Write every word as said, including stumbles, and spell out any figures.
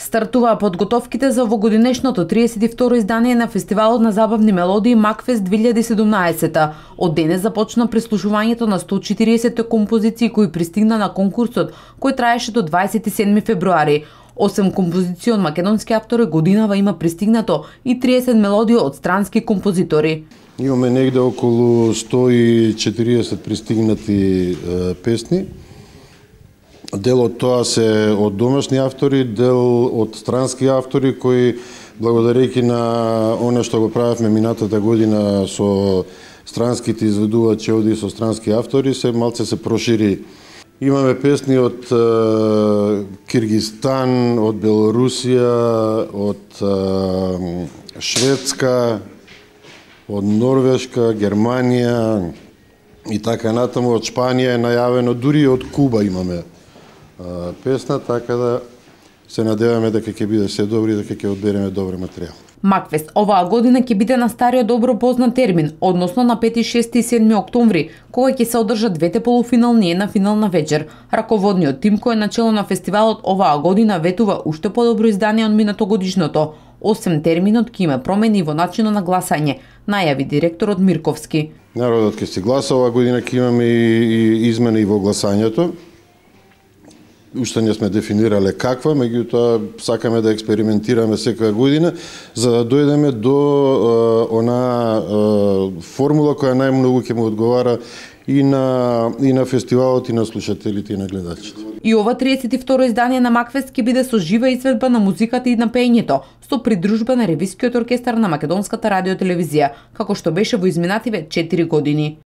Стартуваа подготовките за овогодинешното триесет и второ издание на фестивалот на забавни мелодии Макфест две илјади и седумнаесета. Од денес започна прислушувањето на сто и четириесет композиции кои пристигна на конкурсот, кој траеше до дваесет и седми февруари. осем композиции од македонски автори годинава има пристигнато и триесет мелодии од странски композитори. Имаме негде околу сто и четириесет пристигнати е, песни. Дел од тоа се од домашни автори, дел од странски автори кои, благодарејќи на оно што го правевме минатата година со странските изведувачи овде со странски автори, се малце се прошири. Имаме песни од е, Киргизстан, од Белорусија, од е, Шведска, од Норвешка, Германија и така натаму, од Шпанија е најавено, дури од Куба имаме песна, така да се надеваме дека ќе биде се добри, дека ќе одбереме добар материјал. Макфест оваа година ќе биде на стариот добро познат термин, односно на пети, шести и седми октомври, кога ќе се одржат двете полуфинални и една финална вечер. Раководниот тим кој е начело на фестивалот оваа година ветува уште подобро издание од минатогодишното. Осем терминот ќе има промени во начинот на гласање, најави директорот Мирковски. Народот ќе се гласа, оваа година ќе имаме и измени во гласањето. Уште не сме дефинирале каква, меѓутоа сакаме да експериментираме секоја година, за да дојдеме до е, она е, формула која најмногу ќе му одговара и на и на фестивалот и на слушателите и на гледачите. И ова триесет и второ издание на Макфест ќе биде со жива изведба на музиката и на пеењето, со придружба на Ревискиот оркестар на Македонската радиотелевизија, како што беше во изминативе четири години.